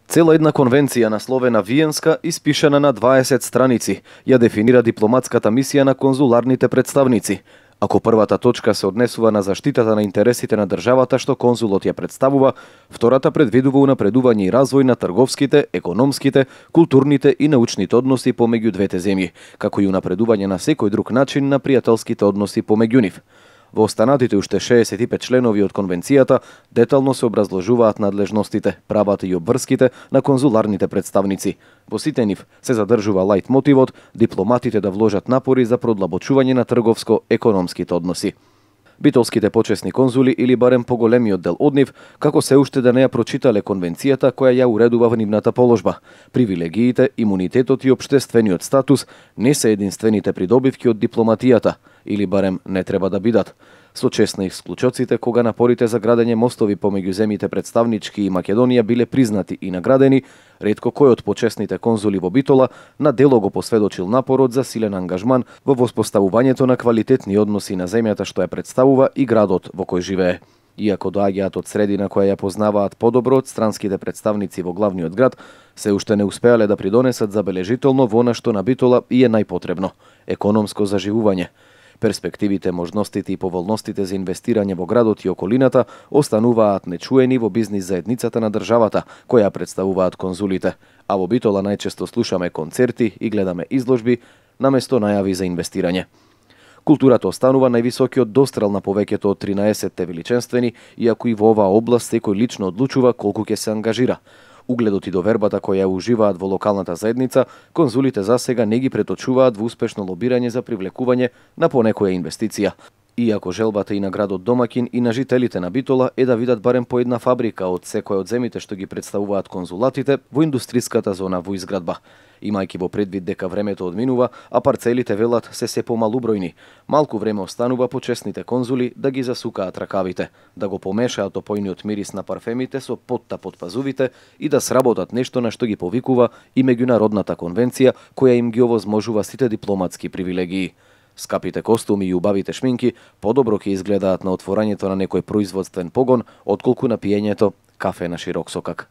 Цела една конвенција насловена Виенска, испишана на 20 страници, ја дефинира дипломатската мисија на конзуларните представници. Ако првата точка се однесува на заштитата на интересите на државата што конзулот ја представува, втората предвидува унапредување и развој на трговските, економските, културните и научните односи помеѓу двете земји, како и унапредување на секој друг начин на пријателските односи помеѓу нив. Во останатите уште 65 членови од конвенцијата детално се образложуваат надлежностите, правата и обврските на конзуларните представници. Во сите нив се задржува лајт мотивот дипломатите да вложат напори за продлабочување на трговско-економските односи. Битолските почесни конзули или барем поголемиот дел од нив, како се уште да не ја прочитале конвенцијата која ја уредува нивната положба. Привилегиите, имунитетот и општествениот статус не се единствените придобивки од дипломатијата, или барем не треба да бидат. Со чест на исклучоците кога напорите за градење мостови помеѓу земјите представнички и Македонија биле признати и наградени, ретко кој од почесните конзули во Битола на дело го посведочил напорот за силен ангажман во воспоставувањето на квалитетни односи на земјата што ја представува и градот во кој живее. Иако доаѓаат од средина која ја познаваат подобро од странските представници во главниот град, се уште не успеале да придонесат забележително во она што на Битола и е најпотребно – економско заживување. Перспективите, можностите и поволностите за инвестирање во градот и околината остануваат нечуени во бизнис заедницата на државата, која представуваат конзулите, а во Битола најчесто слушаме концерти и гледаме изложби наместо најави за инвестирање. Културата останува највисокиот дострел на повеќето од 13-те величенствени, иако и во оваа област секој лично одлучува колку ќе се ангажира. Угледот и довербата која уживаат во локалната заедница, конзулите засега не ги преточуваат во успешно лобирање за привлекување на понекоја инвестиција. Иако желбата и на градот домакин и на жителите на Битола е да видат барем по една фабрика од секоја од земите што ги представуваат конзулатите во индустриската зона во изградба. Имајќи во предвид дека времето одминува, а парцелите велат се помалубројни, малку време останува почесните конзули да ги засукаат ракавите, да го помешаат опојниот мирис на парфемите со потта под пазувите и да сработат нешто на што ги повикува и меѓународната конвенција која им ги овозможува сите дипломатски привилегии. Скапите костуми и убавите шминки подобро ќе изгледаат на отворањето на некој производствен погон отколку на пиењето кафе на широк сокак.